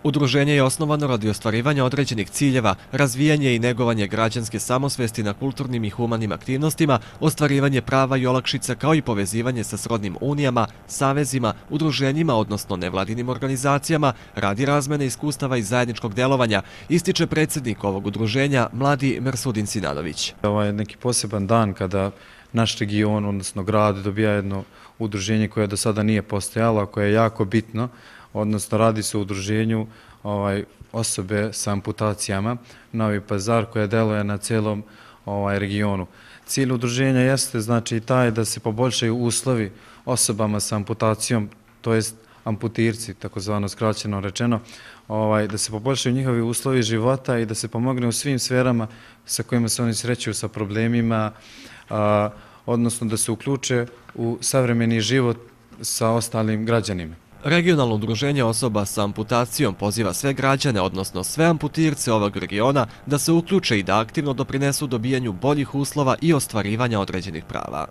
Udruženje je osnovano radi ostvarivanja određenih ciljeva, razvijanje i negovanje građanske samosvesti na kulturnim i humanim aktivnostima, ostvarivanje prava i olakšica kao i povezivanje sa srodnim unijama, savezima, udruženjima, odnosno nevladinim organizacijama, radi razmene iskustava i zajedničkog delovanja, ističe predsjednik ovog udruženja, mladi Mersudin Sinanović. Ovo je neki poseban dan kada naš region, odnosno grad, dobija jedno udruženje koje do sada nije postojalo, koje je jako bitno, odnosno radi se o udruženju osobe sa amputacijama Novi Pazar koje deluje na celom regionu. Cilj udruženja jeste znači taj da se poboljšaju uslovi osobama sa amputacijom, to jest amputirci, takozvano skraćeno rečeno, da se poboljšaju njihovi uslovi života i da se pomogne u svim sferama sa kojima se oni sreću sa problemima, odnosno da se uključe u savremeni život sa ostalim građanima. Regionalno udruženje osoba sa amputacijom poziva sve građane, odnosno sve amputirce ovog regiona, da se uključe i da aktivno doprinesu dobijanju boljih uslova i ostvarivanja određenih prava.